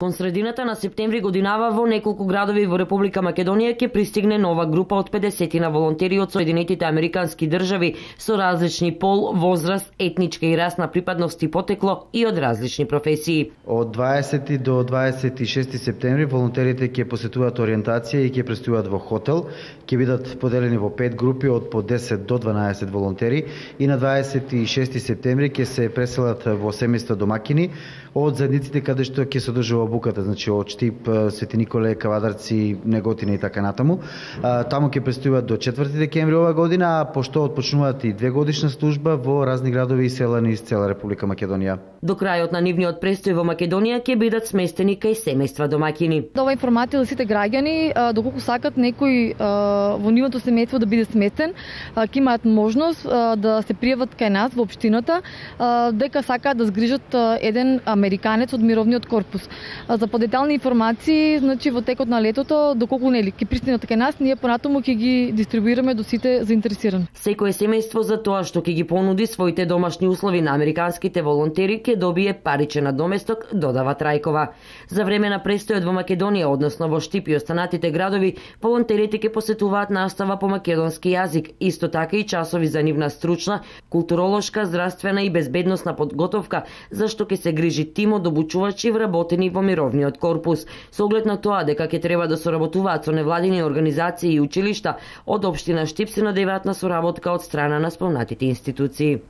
Кон средината на септември годинава во неколку градови во Република Македонија ќе пристигне нова група од 50 на волонтери од Соединетите Американски држави со различни пол, возраст, етничка и расна припадност и потекло и од различни професии. Од 20 до 26 септември волонтерите ќе посетуваат ориентација и ќе престојуваат во хотел. Ќе бидат поделени во 5 групи од по 10 до 12 волонтери и на 26 септември ќе се преселат во семејства домакини од заедниците каде што ќе се одржува обуката, значи од Штип, Свети Николе, Кавадарци, Неготина и така натаму. Таму ќе престојуваат до 4 декември ова година, а пошто отпочнуваат и 2 годишна служба во разни градови и села низ цела Република Македонија. До крајот на нивниот престој во Македонија ќе бидат сместени кај семејства домакини. Ова информација за сите граѓани, доколку сакат некој во нивното семејство да биде сместен, ќе имаат можност да се пријават кај нас во општината, дека сакаат да згрижат еден американец од мировниот корпус. За подетални информации, значи во текот на летото, доколку нели ќе пристигнат кај нас, ние понатаму ќе ги дистрибуираме до сите заинтересирани. Секое семејство за тоа што ќе ги понуди своите домашни услови на американските волонтери ќе добие паричен надоместок, додава Трајкова. За време на престојот во Македонија, односно во Штип и останатите градови, волонтерите ќе посетуваат настава по македонски јазик, исто така и часови за нивна стручна, културолошка, здравствена и безбедносна подготовка, за што ќе се грижи тим од обучувачи вработени во мировниот корпус, со оглед на тоа дека ќе треба да соработуваат со невладини организации и училишта, од општина Штип се надеваат на соработка од страна на спомнатите институции.